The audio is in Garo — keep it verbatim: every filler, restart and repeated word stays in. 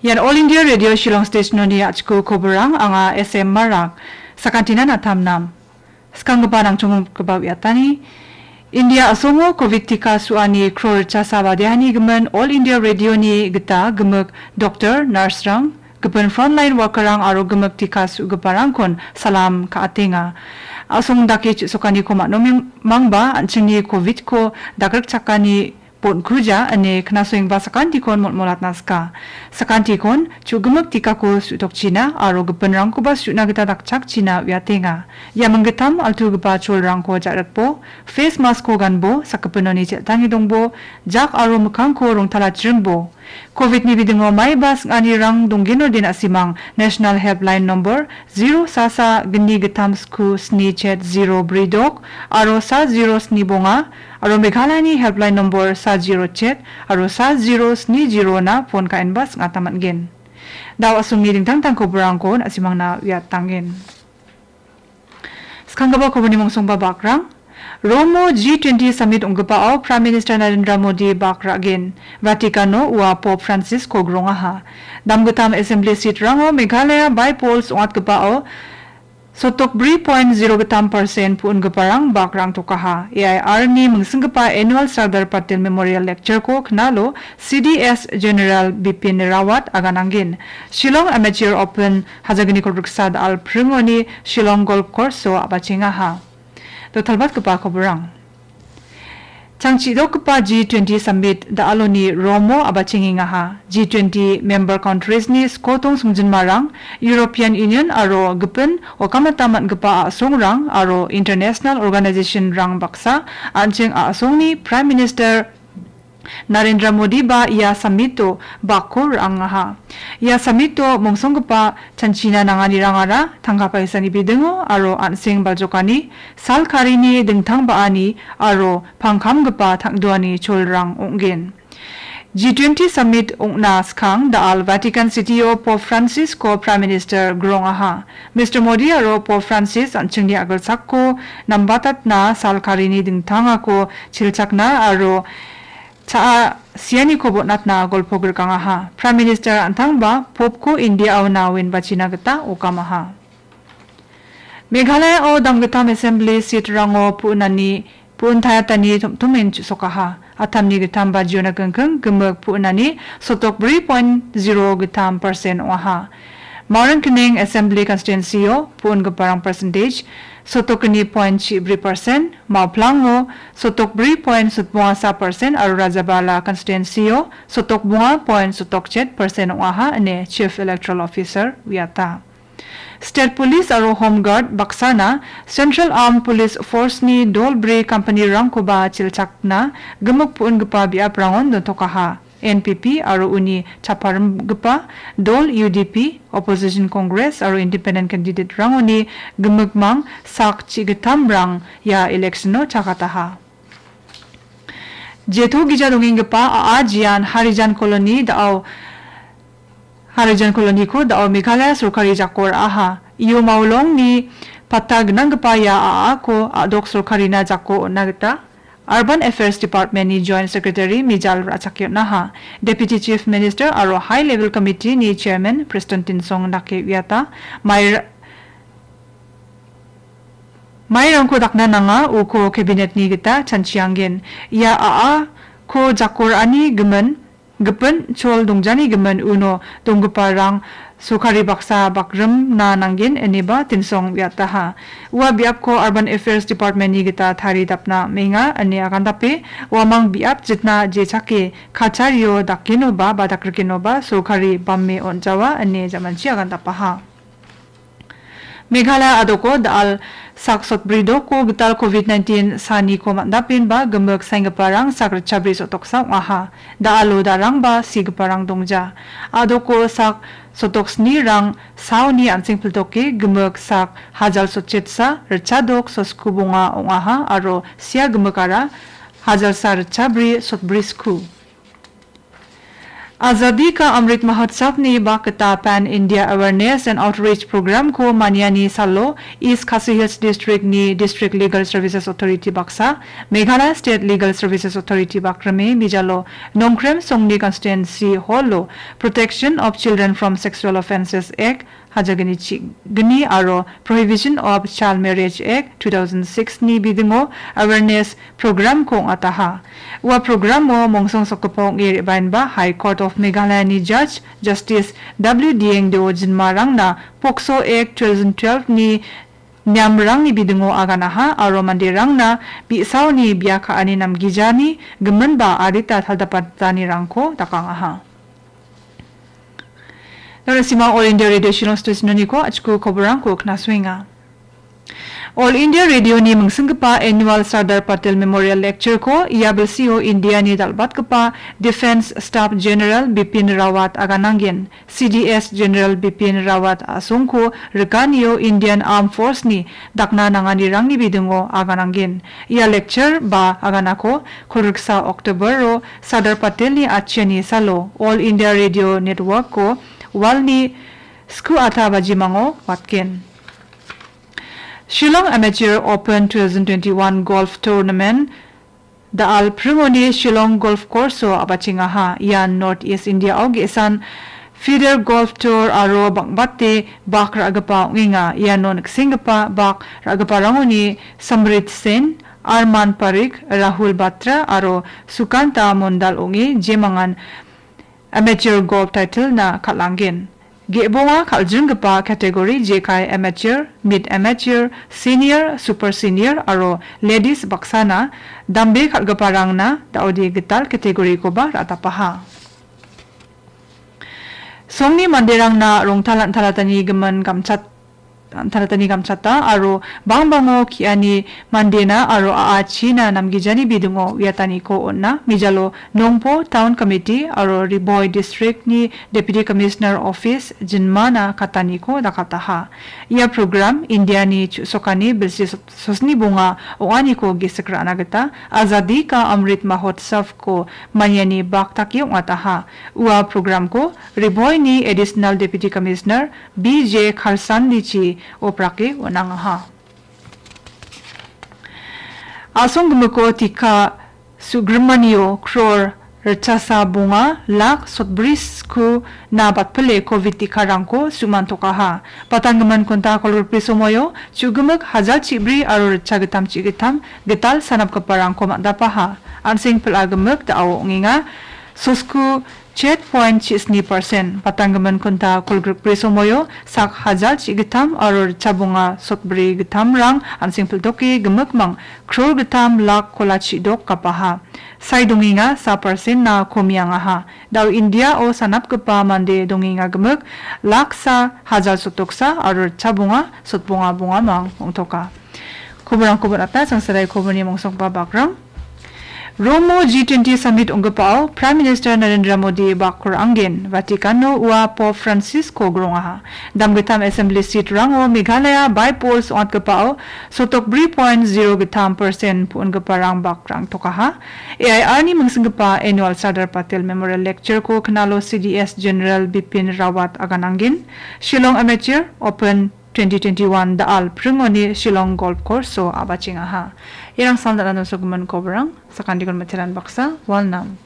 Ian All India Radio Shillong Station-oni a·chiko koborang, anga S M Marak. Sakantinan a·tamnam. Skanggipa nangchonggipa uiatani, India a·songo covid tika su·ani kror chasa badeani gimin All India Radio-ni gita gimik doktor, nurse-rang, gipin frontline worker-rang aro gimik tika su·giparangkon salam ka·atenga. A·song dake chu·sokaniko man·omimangba an·chingni covid-ko dagrikchakani bon·kuja ine knasoengba sakantikon molmolatna sika. Sakantikon chu·gimik tikako su·tokchina aro gipinrangkoba su·na gita dakchakchina uiatenga. Ia minggittam altugipa cholrangko ja·ritbo, face mask-ko ganbo, sakgipinoni cheltange dongbo, jak aro mikkangko rongtalachrimbo. Covid-ni bidingo maiba sing·anirang donggeno den a·simang National Helpline nombor zero sa sa gni gittam sku sni chet zero bri dok aro sa zero sni bonga aro Meghalayani helpline nombor sa zero chet aro sa zero sni zero-na phone ka·enba sing·ata man·gen. Da·o a·songni dingtang dingtang koborangko na·simangna uiatangen. Skanggipa koborni mongsongba bakrang. Romo G twenty Summit ong·gipao Prime Minister Narendra Modi bak ra·gen. Vaticano ua Pope Francis-ko grongaha. Damgittam Assembly seat-rango Meghalaya by polls ong·atgipao sotokbri point zero gittam percent pu·ongiparang bak rangtokaha. A I R-ni mingsinggipa Annual Sardar Patel Memorial Lecture-ko knalo C D S General Bipin Rawat aganangen. Shillong Amateur Open hajagni kolgriksa da·al pringoni Shillong Golf Course-o a·bachengaha. Dotalbatgipa koborang. Changchidokgipa G twenty Summit da·aloni Romo a·bachengengaha. G twenty member countries-ni skotong songjinmarang, European Union aro gipin okamata man·gipa a·songrang aro international organization-rang baksa an·ching a·songni Prime Minister Narendra Modi ba ia summit-o bakko ra·angaha. Ia summit-o mongsonggipa chanchina nanganirangara tangka paisani bidingo aro an·seng baljokani, sal karini dingtang ba·ani aro pangkamgipa tangduani cholrang ong·gen. G twenty summit ong·na skang da·al Vatican City-o Pope Francis-ko Prime Minister grongaha. Mister Modi aro Pope Francis an·chingni a·gilsakko nambatatna, sal karini dingtangako chilchakna aro cha·a sianiko botnatna golpo grikangaha. Prime Minister an·tangba Pope-ko India-o nawen bachina gita okamaha. Meghalaya-o damgittam Assembly seat-rango pu·nani, pu·ntaiatani tom·tomen chu·sokaha. A·tamni gittam bajiona kingking gimik pu·nani sotokbri point zero gittam percent ong·aha. Maringkening Assembly Constituency-o pu·ongiparang percentage sotokgni point chibri percent, Mawplango sotokbri point sotbongasa percent aro Rajabala Constituency-o sotokbonga point sotokchet percent ong·aha ine Chief Electoral Officer uiata. State Police aro Home Guard baksana Central Armed Police Force-ni dolbri company-rangkoba chilchakna gimik pu·ongipa biaprangon dontokaha. N P P aro uni chaparimgipa dol U D P, Opposition Congress aro independent candidate-rangoni gimikmang sak chigittamrang ia election-o chakataha. Jeto gija dongenggipa A A Jian Harijan Colony da·o, Harijan Colony-ko da·o Meghalaya sorkari jako ra·aha. Iyo Maulongni patta gnanggipa ia A A-ko a·dok sorkarina jako on·na gita Urban Affairs Department-ni Joint Secretary Mijal ra·chake on·aha. Deputy Chief Minister aro High Level Committee-ni Chairman Preston Tynsong dake uiata. Mai-, mairangko dakna nanga, uko cabinet-ni gita chanchiangen. Ia A A-ko jako ra·ani gimin, gipin chol dongjani gimin uno donggiparang sorkari baksa bakrimna nanggen ineba Tynsong uiataha. Ua biapko Urban Affairs Department-ni gita taridapna am·enga ine agandape, uamang biap jitna jechake kachario dakgenoba ba dakrikenoba sorkari bame on·jawa ine jamanchi agandapaha. Meghalaya a·doko da·al sak sotbri doko gital covid nineteen saniko man·dapenba gimik saenggiparang sak ritchabri sotoksa ong·aha. Da·alo darangba sigiparang dongja. A·doko sak sotoksnirang saoni an·seng piltoke gimik sak hajal sotchetsa ritchadok sosku bonga ong·aha aro sia gimikara hajalsa ritchabri sotbri sku. Azadi Ka Amrit Mahotsavni bak gita Pan India Awareness and Outreach Programko maniani salo East Khasi Hills Districtni District Legal Services Authority baksa, Meghalaya State Legal Services Authority bakrime bijalo Nongkrem Songni Constituency Hallo Protection of Children from Sexual Offences Act hajagni chigni aro Prohibition of Child Marriage Act two thousand six ni bidingo awareness programko ong·ataha. Ua programo mongsong sokgipa ong·e re·baenba High Court of Meghalaya ni Judge Justice W Dieng Deo jinmarangna POCSO Act two thousand twelve ni niamrangni bidingo aganaha aro manderangna bi·saoni bia ka·ani namgijani giminba adita taldapatanirangko dakangaha. Nonasima All India Radio Shillong Station-oniko achku koborangko knasuenga. All India Radio-ni mingsinggipa Annual Sardar Patel Memorial Lecture-ko ia bilsio India-ni dal·batgipa Defence Staff General Bipin Rawat agananggen. C D S General Bipin Rawat a·songko rikanio Indian Armed Force-ni dakna nanganirangni bidingo agananggen. Ia lecture ba aganako kolriksa October-o Sardar Patel-ni atchiani salo All India Radio Network-o walni sku ata bajimango watgen. Shillong Amateur Open two thousand twenty-one Golf Tournament da·al pringoni Shillong Golf Course-o a·bachengaha. Ian North East India-o ge·san feeder golf tour aro bang·bate bak ra·gipa ong·enga. Iano niksenggipa bak ra·giparangoni Samrit Sen, Arman Parik, Rahul Batra aro Sukanta Mondal ong·e jemangan amateur golf title-na kal·angen. Ge·bonga kal·jringgipa category jekai amateur, mid amateur, senior, super senior aro ladies baksana dambe kal·giparangna da·ode gital category-koba ra·tapaha. Songni manderangna rongtal an·talatani gimin gamchat an·talatani gamchata aro bangbango ki·ani mandena aro a·achina namgijani bidingo uiataniko on·a. Mijalo Nongpo Town Committee aro Ri Bhoi District-ni Deputy Commissioner Office jinmana kataniko dakataha. Ia program India-ni chu·sokani bilsi sosni bonga ong·aniko gisik ra·na gita Azadi Ka Amrit Mahotsav-ko maniani bak dake ong·ataha. Ua programko Ri Bhoi-ni Additional Deputy Commissioner B J Kharsandichi oprake on·angaha. A·songgimiko tika su·grimanio kror ritchasa bonga lak sotbri skuna batpile covid tikarangko su·mantokaha. Patanggimin kunta kolgrikbri somoio chu·gimik hajal chibri aro ritchagittam chigittam gital sanapgiparangko man·dapaha. An·seng pil·a gimik da·o ong·enga. Sosku chet point chisni persen. Patanggimin kunta kolgrikbri somoio sak hajal chigittam aro ritchabonga sotbri gittamrang an·seng piltoke gimikmang kror gittam lak kola chidok gapaha. Sai dongenga sa persen-na komiangaha. Da·o India-o sanapgipa mande dongenga gimik laksa hajal sotoksa aro ritchabonga sotbonga bongamang ong·toka. Koborangko bon·ata, sangsarai koborni mongsokba bakrang. Romo G twenty Summit ong·gipao Prime Minister Narendra Modi bak ra·angen. Vaticano ua Pope Francisco grongaha. Damgittam Assembly seat-rango Meghalaya by polls ong·atgipao sotokbri point zero gittam persen pu·ongiparang bak ra·angtokaha. A I R-ni mingsinggipa Annual Sardar Patel Memorial Lecture-ko Knalo C D S General Bipin Rawat aganangen. Shillong Amateur Open twenty twenty-one da·al pringoni Shillong Golf Course-o a·bachengaha. Iarang sal dal·a nosogimin koborang, sakantikon miteran baksa, walnam.